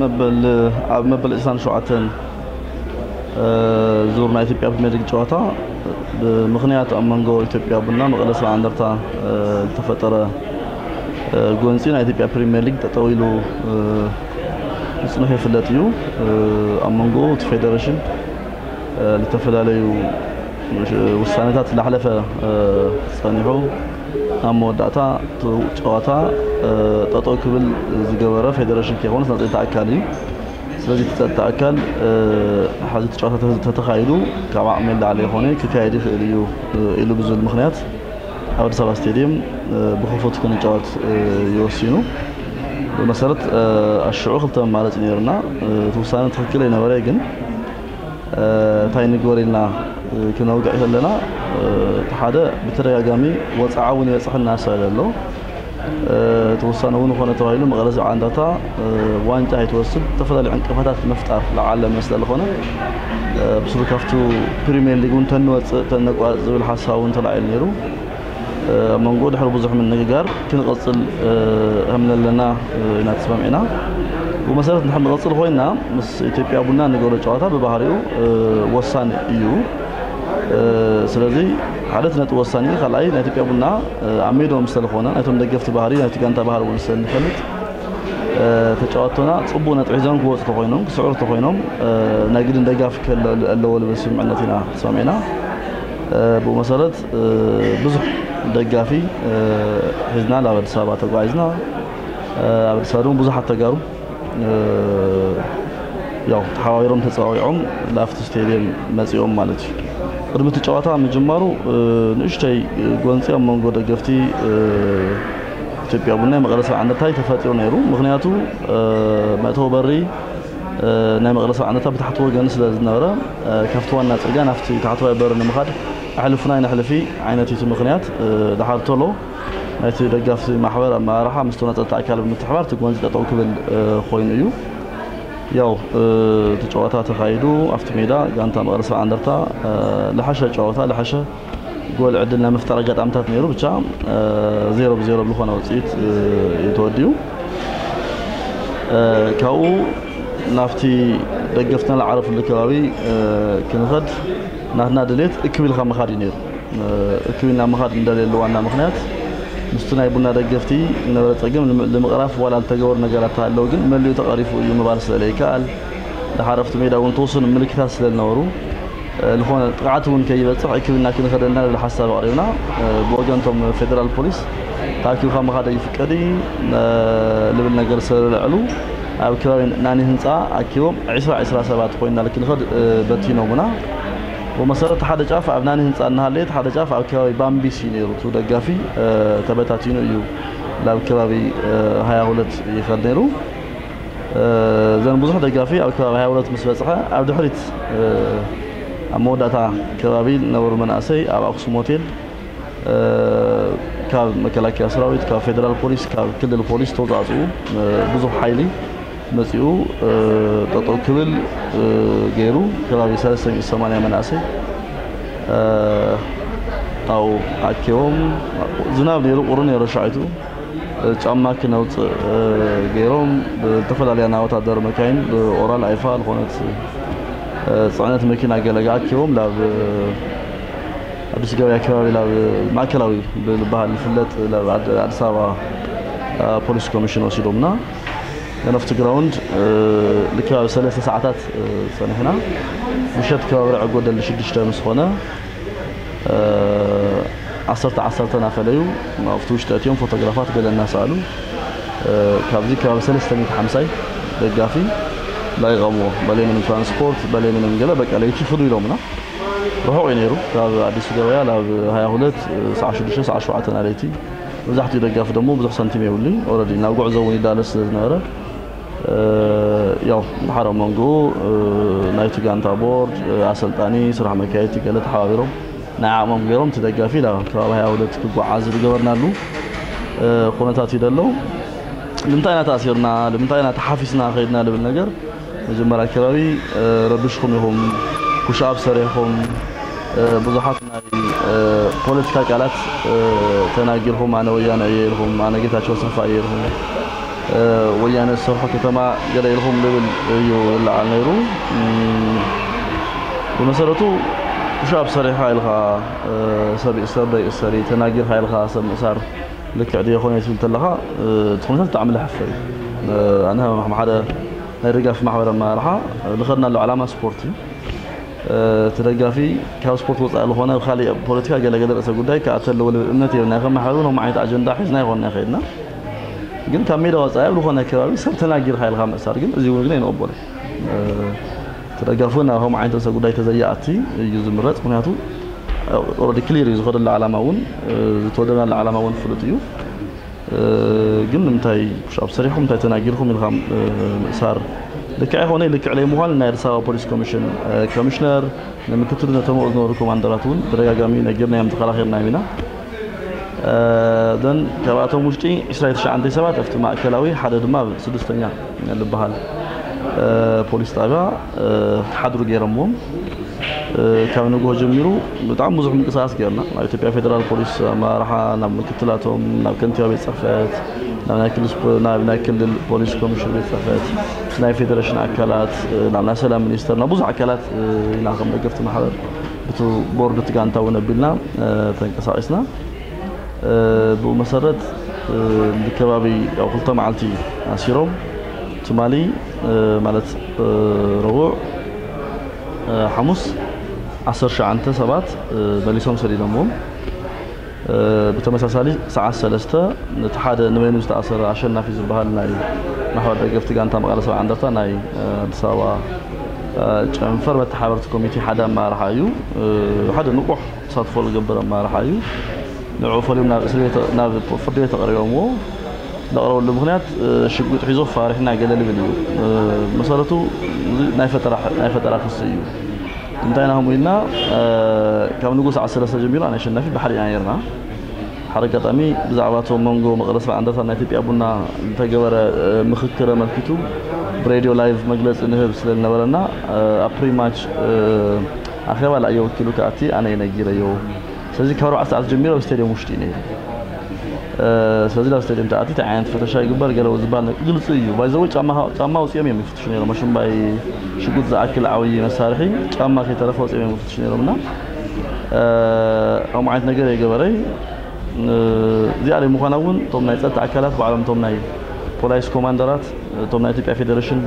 መበል ኣብ መበል ዕስራን ሸውዓተን ዙር ናይ ኢትዮጵያ ፕሪሚየር ሊግ ጨዋታ ብምኽንያት ኣብ መንጎ ኢትዮጵያ ቡና መቐለ ሰብዓ እንደርታ ዝተፈጠረ ጎንፂ ናይ ኢትዮጵያ ፕሪሚየር ሊግ ጠጠው ኢሉ ምፅንሑ ይፍለጥ እዩ። ኣብ መንጎ እቲ ፌደሬሽን ዝተፈላለዩ ውሳኔታት ላሕለፈ ጸኒሑ ኣብ መወዳእታ እቲ ጨዋታ ጠጠው ክብል ዝገበረ ፌደሬሽን ከይኮነስ ናይ ጸጥታ ኣካል እዩ። ስለዚ እቲ ጸጥታ ኣካል ሓዚ እቲ ጨዋታ ተተኻይዱ ካብ ዓቕሚ ንላዕሊ ይኾነ ክካየድ ይኽእል እዩ ኢሉ ብዝብል ምኽንያት ኣብ ኣዲስ ኣበባ ስቴድየም ብኽፉት ክንጫወት ይወሲኑ። ብመሰረት ኣሽዑ ክልተ መማረፂ ነይሩና። እቲ ውሳነ ትኽክል ኣይነበረ ግን እንታይ ንግበር ኢልና ክነውግዕ ከለና እቲ ሓደ ብተደጋጋሚ ወፅዓ እውን ይበፅሐና ስለ ዘሎ እቲ ውሳነ እውን ኮነ ተባሂሉ መቐለ ሰብዓ እንደርታ ዋንጫ ኣይትወስድ ዝተፈላለዩ ዕንቅፋታት ምፍጣር ዝዓለመ ስለ ዝኾነ ብስሩ ካብቱ ፕሪሚየር ሊግ እውን ተንወፅእ ተነቋርፅ ዝብል ሓሳብ እውን ተላዒሉ ነይሩ። ኣብ መንጎ ድሕሪ ብዙሕ ምንግጋር ክንቐፅል ከም ዘለና ኢና ተስማሚዕና። ብመሰረት ንድሕር ንቐፅል ኮይና ምስ ኢትዮጵያ ቡና ንገብሮ ጨዋታ ብባህሪኡ ወሳኒ እዩ። ስለዚ ሓደ እቲ ነጥቢ ወሳኒ እዩ። ካልኣይ ናይ ኢትዮጵያ ቡና ኣብ ሜድኦም ስለዝኾነ ናይቶም ደገፍቲ ባህሪ ናይቲ ጋንታ ባህሪ እውን ስለንፈልጥ ተጫወቶና ፅቡቅ ነጥቢ ሒዞም ክወፁ ተኮይኖም ክስዕሩ ተኮይኖም ናይ ግድን ደጋፊ ክህሉ ኣለዎ ልብል ስምምዕነት ኢና ተስማሚዕና። ብኡ መሰረት ብዙሕ ደጋፊ ሒዝና ናብ ኣዲስ ኣበባ ተጓዒዝና። ኣብ ኣዲስ ኣበባ ድማ ብዙሓት ተጋሩ ያው ተሓባቢሮም ተፀዋዊዖም ላፍቲ ስቴድየም መፂኦም ማለት እዩ። ቅድሚ እቲ ጨዋታ ምጅማሩ ንእሽተይ ጎንፂ ኣብ መንጎ ደገፍቲ ኢትዮጵያ ቡና መቐለ ሰብዓ እንደርታ ተፈጢሩ ነይሩ። ምክንያቱ መእተዊ በሪ ናይ መቐለ ሰብዓ እንደርታ ብታሕቲ ወገን ስለ ዝነበረ ካብቲ ዋና ፅርግያ ናብቲ ታሕተዋይ በሪ ንምኻድ ኣሕልፉና ይነሕልፊ ዓይነት እዩ እቲ ምክንያት። ድሓር ቶሎ ናይቲ ደጋፍቲ ማሕበር ኣመራርሓ ምስ ተወናፀልቲ ኣካል ብምትሕባር እቲ ጎንፂ ጠጠው ክብል ኮይኑ እዩ። ያው እቲ ጨዋታ ተኻይዱ ኣብቲ ሜዳ ጋንታ መቐለ ሰብዓ እንደርታ ልሓሸ ጨዋታ ልሓሸ ጎል ዕድል ናይ ምፍጣር ኣጋጣሚታት ነይሩ። ብቻ ዜሮ ብዜሮ ብዝኾነ ውፅኢት እዩ ተወዲኡ። ካብኡ ናብቲ ደገፍትና ዝዓረፍሉ ከባቢ ክንኸድ ናትና ድሌት እክብ ኢልካ ምኻድ እዩ ነይሩ። እክብ ኢልና ምኻድ እንደልየሉ ዋና ምኽንያት ምስቲ ናይ ቡና ደገፍቲ ዝነበረ ፀገም ንምቕራፍ ዋላ ዝተገበሩ ነገራት ተሃለዉ ግን መሊኡ ተቐሪፉ እዩ ምባል ስለ ዘይከኣል፣ ድሓር ኣብቲ ሜዳ እውን ተወሰኑ ምልክታት ስለ ዝነበሩ ዝኾነ ጥቕዓት እውን ከይበፅሕ እክብ ኢልና ክንኸደልና ዝብል ሓሳብ ኣቕሪብና። ብወገን እቶም ፌደራል ፖሊስ ተኣኪብካ ምኻድ ኣይፍቀድ እዩ ልብል ነገር ስለ ዘልዐሉ ኣብ ከባቢ ናኒ ህንፃ ኣኪቦም ዕስራ ዕስራ ሰባት ኮይንና ክንኸድ በቲኖምና። ብመሰረት ሓደ ጫፍ ኣብ ናኒ ህንፃ እናሃለየ ሓደ ጫፍ ኣብ ከባቢ ባምቢስ እዩ ነይሩ። እቲ ደጋፊ ተበታቲኑ እዩ ናብ ከባቢ ሃያ ሁለት ይኸድ ነይሩ። እዘን ብዙሕ ደጋፊ ኣብ ከባቢ ሃያ ሁለት ምስ በፅሐ ኣብ ድሕሪት ኣብ መወዳእታ ከባቢ ዝነበሩ መናእሰይ ኣብ ኣክሱም ሆቴል ካብ መከላከያ ሰራዊት ካብ ፌደራል ፖሊስ ካብ ክልል ፖሊስ ተውፃፅኡ ብዙሕ ሓይሊ መፂኡ ጠጠው ክብል ገይሩ ከባቢ ሰለስተ ሚእቲ ሰማንያ መናእሰይ ኣብኡ ኣኪቦም ዝናብ ነይሩ ቁሪ ነይሩ ሻዒቱ ጫማ ክነውፅእ ገይሮም ብዝተፈላለያ ናይ ወታደር መካይን ብኦራል ኣይፋ ዝኾነት ፅዕነት መኪና ገለ ኣኪቦም ናብ ኣዲስ ገበያ ከባቢ ናብ ማእከላዊ ብዝበሃል ዝፍለጥ ናብ ኣዲስ ኣበባ ፖሊስ ኮሚሽን ወሲዶምና። ነፍቲ ግራውንድ ልክብ ኣብ ሰለስተ ሰዓታት ፀኒሕና ምሸት ከባቢ ርዕ ጎደል ሽዱሽተ ምስ ኾነ ዓሰርተ ዓሰርተ ናፈለዩ ኣብቲ ውሽጢ ኣትዮም ፎቶግራፋት ገለ እናሰኣሉ ካብዚ ከባቢ ሰለስተ ሚእቲ ሓምሳይ ደጋፊ ላይቐምዎ በለይ ምንም ትራንስፖርት በለይ ምንም ገለ በቃ ለይቲ ፍዱ ኢሎምና። ርሑቕ እዩ ነይሩ ካብ ኣዲስ ገበያ ናብ ሃያ ሁለት ሰዓ ሽዱሽተ ሰዓ ሸውዓተ ናለይቲ። መብዛሕትኡ ደጋፊ ደሞ ብዙሕ ሳንቲም የብሉይ ኦረዲ ናብ ጉዕዞ እውን ይዳለስ ስለ ዝነበረ ያው ድሓር ኣብ መንጎኡ ናይቲ ጋንታ ቦርድ ኣሰልጣኒ ስራሕ መካየድቲ ገለ ተሓባቢሮም ናይ ዓቕሞም ገይሮም እቲ ደጋፊ ናብ ከባቢ ሃያ ሁለት ክጓዓዝ ዝገበርናሉ ኩነታት እዩ ደሎ። ንምንታይ ኢና ተኣሲርና ንምንታይ ኢና ተሓፊስና ከይድና ልብል ነገር መጀመርያ ከባቢ ረቢሽኩም ኢኹም ኩሽኣብ ሰሪሕኹም ብዙሓት ናይ ፖለቲካ ቃላት ተናጊርኩም ኣነ ወያነ እየ ኢልኩም ኣነ ጌታቸው ኣሰፋ እየ ኢልኩም ወያነ ዝሰርሖ ከተማ ገለ ኢልኩም ልብል እዩ ዝለዓል ነይሩ። ብመሰረቱ ሻብ ሰሪሕኻ ኢልካ ሰብ ይእሰር ዶ ይእሰር እዩ፣ ተናጊርካ ኢልካ ሰብ ምእሳር ልክዕ ድዮ ይኾን ትብል ተለኻ፣ እቲ ኩነታት ብጣዕሚ ለሐፈ እዩ። ኣነ ከም ሓደ ናይ ደጋፊ ማሕበር ኣመራርሓ ዝኸድናሉ ዓላማ ስፖርት እዩ። እቲ ደጋፊ ካብ ስፖርት ወፃኢ ዝኾነ ኣብ ካሊእ ፖለቲካ ገለገለ ርእሰ ጉዳይ ክኣተለዎ ልብል እምነት የብልና። ከም ማሕበር እውን ከምኡ ዓይነት ኣጀንዳ ሒዝና ይኾንና ይኸድና። ግን ካብ ሜዳ ወፃኢ ኣብ ዝኾነ ከባቢ ሰብ ተናጊርካ ኢልካ ምእሳር ግን እዚ እውን ግን ኣይንቕበሎ። እቲ ደጋፊ እውን ኣብ ከምኡ ዓይነት ርእሰ ጉዳይ ተዘይኣቲ እዩ ዝምረፅ። ምክንያቱ ኦረዲ ክሊር እዩ ዝኸደሉ ዓላማ እውን ዝተወደብናሉ ዓላማ እውን ፍሉጥ እዩ። ግን ንምንታይ ፑሽ ኣፕ ሰሪሕኩም እንታይ ተናጊርኩም ኢልካ ምእሳር ልክዕ ኣይኮነ። ልክዕ ለይ ምዃን ናይ ኣዲስ ኣበባ ፖሊስ ኮሚሽን ኮሚሽነር ንምክትሉ ነቶም ዝነበሩ ኮማንደራት እውን ተደጋጋሚ ነጊርናዮም ተኸራኺርናዮም ኢና። ዘን ካብኣቶም ውሽጢ ዕስራ ትሽዓተ ሰባት ኣብቲ ማእከላዊ ሓደ ድማ ኣብ ስድስተኛ ዝበሃል ፖሊስ ጣብያ ሓድሩ ገይሮምዎም። ካብ ንግሆ ጀሚሩ ብጣዕሚ ብዙሕ ምንቅስቃስ ገይርና። ናብ ኢትዮጵያ ፌደራል ፖሊስ ኣመራርሓ፣ ናብ ምክትላቶም፣ ናብ ከንቲባ ቤት ፅሕፈት፣ ናብ ናይ ክልል ስፖ- ናብ ናይ ክልል ፖሊስ ኮሚሽን ቤት ፅሕፈት፣ ናይ ፌዴሬሽን ኣካላት፣ ናብ ናይ ሰላም ሚኒስተር፣ ናብ ብዙሕ ኣካላት ኢና ከም ደገፍቲ ማሕበር ብቲ ቦርድ እቲ ጋንታ እውን ኣቢልና ተንቀሳቂስና። ብኡ መሰረት ብከባቢ ያው ክልተ መዓልቲ ኣሲሮም ትማሊ ማለት ረቡዕ ሓሙስ ዓሰርተ ትሽዓተ ሰባት መሊሶም ሰዲዶምዎም። ብተመሳሳሊ ሰዓት ሰለስተ ነቲ ሓደ ንበይኑ ዝተኣሰረ ኣሸናፊ ዝበሃል ናይ ማሕበር ደገፍቲ ጋንታ መቐለ ሰብዓ እንደርታ ናይ ኣዲስ ኣበባ ጨንፈር መተሓበርቲ ኮሚቴ ሓደ ኣመራርሓ እዩ። ሓደ ንቑሕ ተሳትፎ ዝገብር ኣመራርሓ እዩ። ንዕኡ ፈልዮም ናብ እስር ቤት ናብ ፍርዲ ቤት ኣቕሪቦምዎ። ዘቕረበሉ ምኽንያት ሽጉጥ ሒዞ ፋሪሕና ገለ ልብል እዩ። መሰረቱ ናይ ፈጠራ ናይ ፈጠራ ክሲ እዩ። እንታይ ኢና ከምኡ ኢልና ካብ ንጉስ ዓሰርተ ሰለስተ ጀሚሩ ኣነ ኣሸናፊ ብሓደ ኢና ነርና። ሓደ ኣጋጣሚ ብዛዕባ እቶም መንጎ መቐለ ሰብዓ እንደርታ ናይ ኢትዮጵያ ቡና ዝተገበረ ምኽክር ኣመልኪቱ ብሬድዮ ላይቭ መግለፂ ንህብ ስለ ዝነበረና ኣብ ፕሪማች ኣኼባ ላእየ ወኪሉ ክኣቲ ኣነ ነጊረዮ። ስለዚ ካብ ኣርባዕተ ሰዓት ጀሚሩ ኣብ ስቴድየም ውሽጢ እዩ ነይሩ። ስለዚ ናብ ስቴድየም ተኣቲ እንታይ ዓይነት ፈተሻ ይግበር ገለ ዝበሃል ግልፂ እዩ። ባይዘወይ ጫማ ኣውፂኦም እዮም ይፍትሹ ነይሮም። ኣሽምባይ ሽጉጥ ዝኣክል ዓብዪ መሳርሒ ጫማ ከይተረፈ ኣውፂኦም እዮም ይፍትሹ ነይሮም እና ከምኡ ዓይነት ነገር የገበረይ። እዚኣ ደይ ምዃና እውን እቶም ናይ ፀጥታ ኣካላት ባዕሎም እቶም ናይ ፖላይስ ኮማንደራት እቶም ናይ ኢትዮጵያ ፌዴሬሽን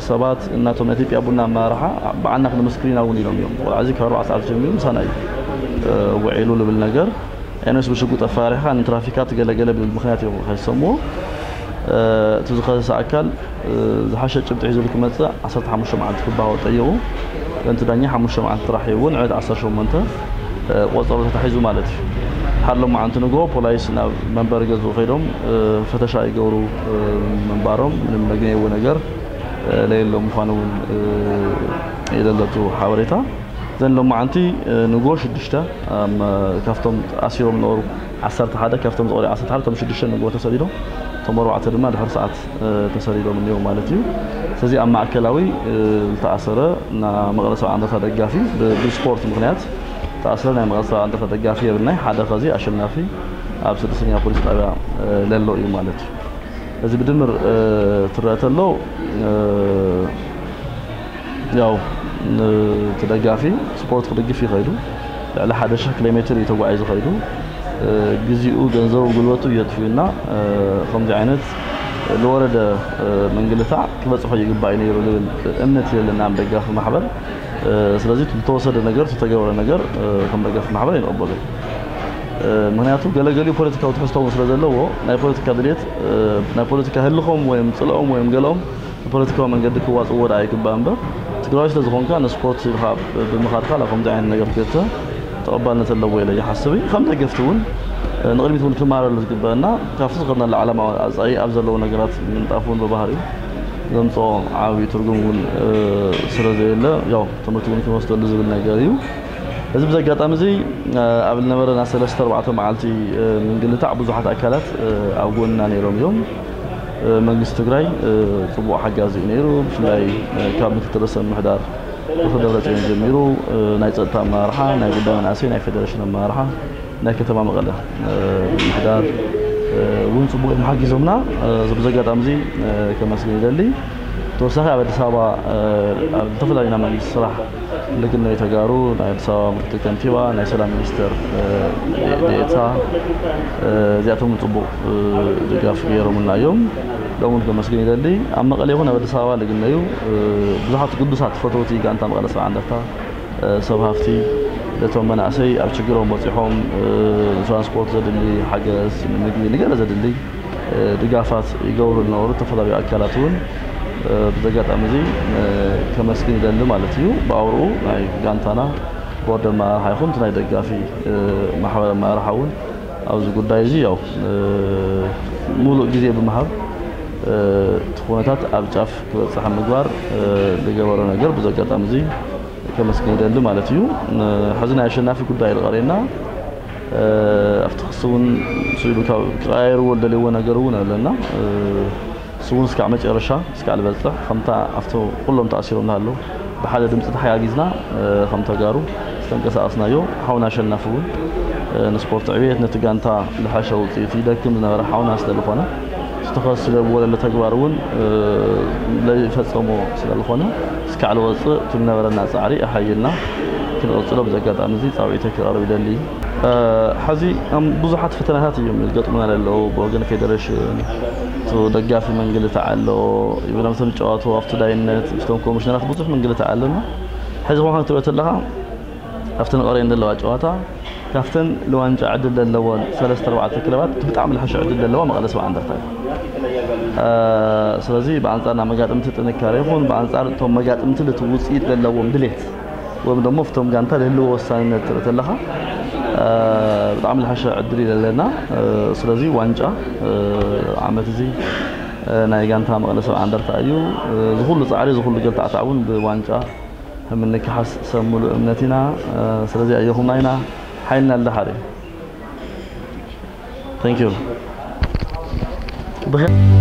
ሰባት እናቶም ናይ ኢትዮጵያ ቡና ኣመራርሓ በዓልና ክንምስክር ኢና እውን ኢሎም እዮም። ቆልዓ እዚ ካብ ኣርባዕተ ሰዓት ጀሚሩ ምሳና እዩ ውዒሉ ልብል ነገር ኤነስ ብሽጉጥ ኣፈራሪሕካ ንትራፊካት ገለገለ ብዝብል ምክንያት እዮም ከይሰምዎ። እቲ ዝኸሰሰ ኣካል ዝሓሸ ጭብጢ ሒዙ ክመፅእ ዓሰርተ ሓሙሽተ መዓልቲ ክባሃወ ጠይቑ። እንቲ ዳኛ ሓሙሽተ መዓልቲ ጥራሕ ሂቡ ንዕለት ዓሰርተ ሸሞንተ ቆፀሮ ተታሒዙ ማለት እዩ። ሓሎም መዓልቲ ንግሆ ፖላይስ ናብ መንበሪ ገዝኡ ከይዶም ፈተሻ ይገብሩ ምንባሮም ምንም ነግነይዎ ነገር ለየሎ ምዃኑ እውን የለለቱ ሓበሬታ። ዘን ሎማዓንቲ ንግሆ ሽዱሽተ ካብቶም ኣሲሮም ነበሩ ዓሰርተ ሓደ ካብቶም ዝቐረዩ ዓሰርተ ሓደ እቶም ሽዱሽተ ንግሆ ተሰዲዶም እቶም ኣርባዕተ ድማ ድሕሪ ሰዓት ተሰዲዶም እኒው ማለት እዩ። ስለዚ ኣብ ማእከላዊ ዝተኣሰረ መቐለ ሰብዓ እንደርታ ደጋፊ ብስፖርት ምክንያት ዝተኣሰረ ናይ መቐለ ሰብዓ እንደርታ ደጋፊ የብልናይ ሓደ ከዚ ኣሸናፊ ኣብ ስድስተኛ ፖሊስ ጣብያ ለሎ እዩ ማለት እዩ። እዚ ብድምር ትረአ ተሎ ያው እቲ ደጋፊ ስፖርት ክድግፍ ይኸይዱ ልዕሊ ሓደ ሽሕ ኪሎ ሜትር እዩ ተጓዒዙ ኸይዱ ግዜኡ ገንዘቡ ጉልበቱ እየጥፍዩና። ከምዚ ዓይነት ዝወረደ ምንግልታዕ ክበፅሖ ይግባእ እዩ ነይሩ ዝብል እምነት የለና ደጋፊ ማሕበር። ስለዚ ዝተወሰደ ነገር ዝተገበረ ነገር ከም ደጋፊ ማሕበር ኣይንቕበሉ። ምክንያቱ ገለገሊኡ ፖለቲካዊ ትሕዝቶ እውን ስለ ዘለዎ ናይ ፖለቲካ ድሌት ናይ ፖለቲካ ህልኾም ወይም ፅልኦም ወይም ገለኦም ብፖለቲካዊ መንገዲ ክዋፅዎ ደኣ ይግባእ እምበር ትግራዊ ስለ ዝኾንካ ንስፖርት ኢልካ ብምኻድካ ናብ ከምዚ ዓይነት ነገር ክእተ ተቐባልነት ኣለዎ ኢለ ይሓስብ እዩ። ከም ደገፍቲ እውን ንቕድሚት እውን ክመሃረሉ ዝግበአና ካብቲ ዝኸድናሉ ዓላማ ኣፃኢ ኣብ ዘለዉ ነገራት ምንጣፍ እውን ብባህሪኡ ዘምፅኦ ዓብዪ ትርጉም እውን ስለ ዘየለ ያው ትምህርቲ እውን ክንወስደሉ ዝብል ነገር እዩ። እዚ ብዚ ኣጋጣሚ እዚ ኣብ ዝነበረና ሰለስተ ኣርባዕተ መዓልቲ ምንግልታዕ ብዙሓት ኣካላት ኣብ ጎንና ነይሮም እዮም። መንግስቲ ትግራይ ፅቡቕ ሓጋዚ እዩ ነይሩ። ብፍላይ ካብ ምክትል ርእሰ ምምሕዳር ዶክተር ደብረፅዮን ጀሚሩ ናይ ፀጥታ ኣመራርሓ፣ ናይ ጉዳይ መናእሰይ፣ ናይ ፌደሬሽን ኣመራርሓ፣ ናይ ከተማ መቐለ ምምሕዳር እውን ጽቡቕ እዮም ሓጊዞምና። እዚ ብዚ ኣጋጣሚ እዚ ከመስግን ይደሊ። ተወሳኺ ኣብ ኣዲስ ኣበባ ኣብ ዝተፈላለዩ ናይ መንግስቲ ስራሕ ልግነዩ ተጋሩ፣ ናይ ኣዲስ ኣበባ ምክትል ከንቲባ፣ ናይ ሰላም ሚኒስተር ዴኤታ፣ እዚኣቶም እውን ጽቡቕ ድጋፍ ገይሮምልና እዮም። ሎም እውን ከመስግን ይደሊ። ኣብ መቐለ ይኹን ኣብ ኣዲስ ኣበባ ልግነዩ ብዙሓት ግዱሳት ፈተውቲ ጋንታ መቐለ ሰብዓ እንደርታ፣ ሰብ ሃፍቲ፣ ነቶም መናእሰይ ኣብ ችግሮም በጺሖም፣ ንትራንስፖርት ዘድሊ ሓገዝ፣ ንምግቢ፣ ንገለ ዘድሊ ድጋፋት ይገብሩ ዝነበሩ ዝተፈላለዩ ኣካላት እውን ብዚ ኣጋጣሚ እዚ ከመስግን ይደሊ ማለት እዩ። ብኣውርኡ ናይ ጋንታና ቦርድ ኣመራርሓ ይኹን እቲ ናይ ደጋፊ ማሕበር ኣመራርሓ እውን ኣብዚ ጉዳይ እዚ ያው ሙሉእ ግዜ ብምሃብ እቲ ኩነታት ኣብ ጫፍ ክበጽሕ ምግባር ዝገበሮ ነገር ብዚ ኣጋጣሚ እዚ ከመስግን ይደሊ ማለት እዩ። ሕዚ ናይ ኣሸናፊ ጉዳይ ዝቐርየና ኣብቲ ክሲ እውን ስኢሉ ካብ ክቀያየርዎ ዝደልይዎ ነገር እውን ኣለና። እሱ እውን እስካዕ መጨረሻ እስካዕ ዝበፅሕ ከምታ ኣብቲ ኩሎም ተኣሲሮም እናሃለዉ ብሓደ ድምፂ ተሓጋጊዝና ከም ተጋሩ ዝተንቀሳቐስናዮ ሓውና ኣሸናፊ እውን ንስፖርት ዕብየት ነቲ ጋንታ ዝሓሸ ውፅኢት ይደክም ዝነበረ ሓውና ስለዝኾነ ዝተኸስለ ብወለለ ተግባር እውን ለይፈፀሞ ስለዝኾነ እስካዕ ዝወፅእ እቲ ዝነበረና ፃዕሪ ኣሓይልና ክንቕፅሎ ብዚ ኣጋጣሚ እዚ ፃውዒተይ ክቐርብ ይደሊ። ሕዚ ብዙሓት ፈተናታት እዮም ዝገጥሙና ዘለዉ ብወገን ፌደሬሽን፣ እቲ ደጋፊ መንግልታዕ ኣሎ፣ ይብሎም እቶም ጨዋቶ ኣብቲ ዳይነት፣ እቶም ኮሚሽነራት ብዙሕ መንግልታዕ ኣለና። ሕዚ ኾንካ ክትሪኦ ተለኻ ኣብተን ቀሪየን ዘለዋ ጨዋታ ካብተን ንዋንጫ ዕድል ዘለወን ሰለስተ ኣርባዕተ ክለባት እቲ ብጣዕሚ ዝሐሸ ዕድል ዘለዋ መቐለ ሰብዓ እንደርታ እዩ። ስለዚ ብኣንፃር ናይ መጋጥምቲ ጥንካሬ ይኹን ብኣንፃር እቶም መጋጥምቲ ነቲ ውፅኢት ዘለዎም ድሌት ወይም ደሞ ፍቶም ጋንታ ልህልዎ ወሳንነት ትርኢ ተለኻ ብጣዕሚ ዝሓሸ ዕድል እዩ ዘለና። ስለዚ ዋንጫ ዓመት እዚ ናይ ጋንታ መቐለ ሰብዓ እንደርታ እዩ። ዝኩሉ ፃዕሪ ዝኩሉ ገልታዕታዕ እውን ብዋንጫ ምንክሓስ ሰብ ሙሉእ እምነት ኢና። ስለዚ ኣየኹምና ኢና ሓይልና ልደሓር እዩ። Thank you።